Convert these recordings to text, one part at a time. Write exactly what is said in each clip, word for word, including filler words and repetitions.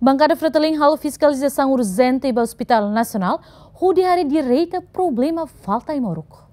Bankada Fretilin halo fiskalizasaun urjente ba Hospital Nasionál, hodi haree direta problema falta ai-moruk.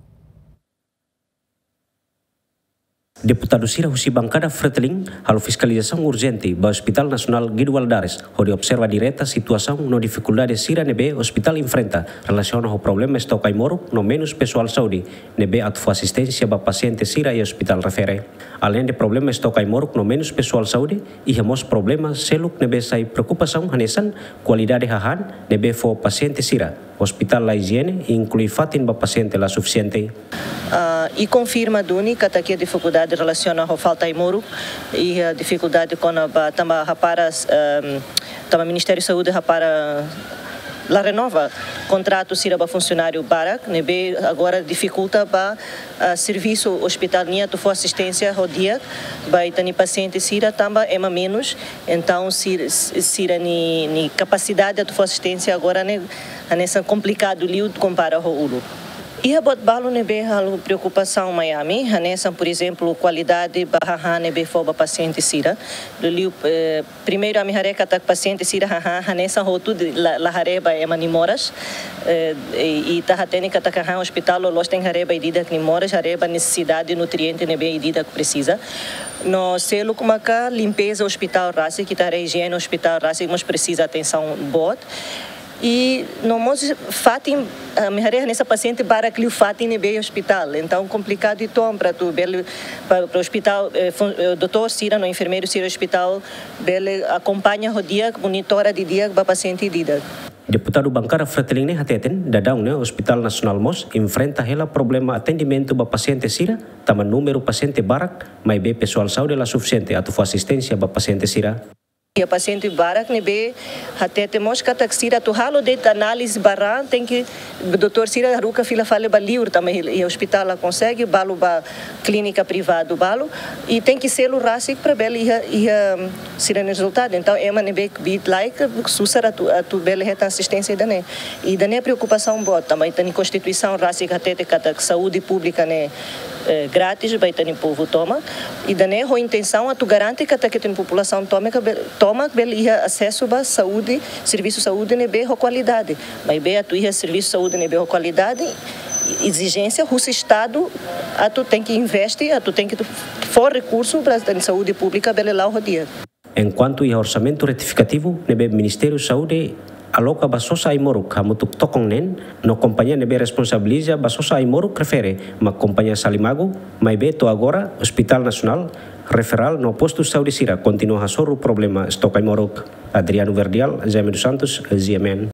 Deputadu sira husi bankada Fretilin halo fiskalizasaun urjente ba Hospital Nasionál Guido Valadares, hodi observa direta situasaun no difikuldade sira ne'ebé ospitál enfrenta relasiona ho problema estok ai-moruk no menus pesoál saúde ne'ebé atu fó asisténsia ba pasiente sira iha ospitál refere. Aleinde problema estok ai-moruk no menus pesoál saúde, iha mós problema seluk ne'ebé sai preokupasaun hanesan kualidade hahán ne'ebé fó pasiente sira, ospitál la ijiene, inklui fatin ba pasiente la sufisiente. Ah, i konfirma duni katak iha difikuldade relasiona ho falta ai-moruk, iha difikuldade kona-ba tanba hapara, ehm, tanba Ministériu Saúde hapara la renova kontratu sira ba funsionáriu barak, ne'ebé agora difikulta ba, ah, servisu ospitál nian atu fó asisténsia ho di'ak ba ita-nia pasiente sira tanba ema menus, entaun sir-, sira-nia, nia kapasidade atu fó asisténsia agora ne'e hanesan komplikadu liu kompara ho uluk. Iha buat balu ne'ebé halo preokupasaun mai ami, hanesan, por ezemplu, kualidade ba hahán ne'ebé fó ba pasiente sira. Liuliu, eh, primeiru ami haree katak pasiente sira hahán, hanesan hotu de-, la, la haree ba ema nia moras. Eh, i, i ita hatene katak hahán ospitál loloos tenke haree ba ida-idak nia moras, haree ba nesesidade nutriente ne'ebé ida-idak presiza. No seluk maka limpeza ospitál rasik, ita haree ijiene ospitál rasik mós presiza atensaun boot. I no mós fatin, ah, ami haree hanesan pasiente barak liu fatin ne'ebé iha ospitál. Entaun komplikadu uitoan para atu bele, para, para ospitál, eh, fun-, eh, doutór sira no enfermeiru sira ospitál bele akompaña ho di'ak, monitora didi'ak ba pasiente ida-idak. Deputadu bankada Fretilin ne'e hateten, daudaun ne'e Hospital Nasionál mós enfrenta hela problema atendimentu ba pasiente sira, tanba númeru pasiente barak, maibé pesoál saúde la sufisiente atu fó asisténsia ba pasiente sira. Iha pasiente barak ne'ebé hatete mós katak sira atu halo de'it análize ba ran, tenke doutór sira haruka fila fali ba liur, tanba iha ospitál la konsege, balu ba klínika privadu balu, i tenke selu rasik para bele iha, iha sira-nia rezultadu. Entaun ema ne'ebé kbiit-laek susar atu, atu bele hetan asisténsia ida-ne'e. I ida-ne'e preokupasaun boot, tanba ita-nia Konstituisaun rasik hatete katak saúde públika ne'e, eh, grátis ba ita-nia povu tomak. Ida-ne'e ho intensaun atu garante katak ita-nia populasaun tomak be-, tomak bele iha asesu ba saúde, servisu saúde ne'ebé ho kualidade. Maibé atu iha servisu saúde ne'ebé ho kualidade, ezijénsia husi Estadu atu tenke investe, atu tenke fó rekursu para ita-nia saúde públika bele la'o ho di'ak. Enkuantu iha orsamentu retifikativu ne'ebé Ministériu Saúde aloka ba sosa ai-moruk hamutuk tokon neen, no kompañia ne'ebé responsabiliza ba sosa ai-moruk refere mak kompañia Salimagu, maibé to'o agora Hospital Nasionál, Referál no postu saúde sira kontinua hasoru problema estok ai-moruk. Adriano Verdial, Jaime dos Santos, G M N.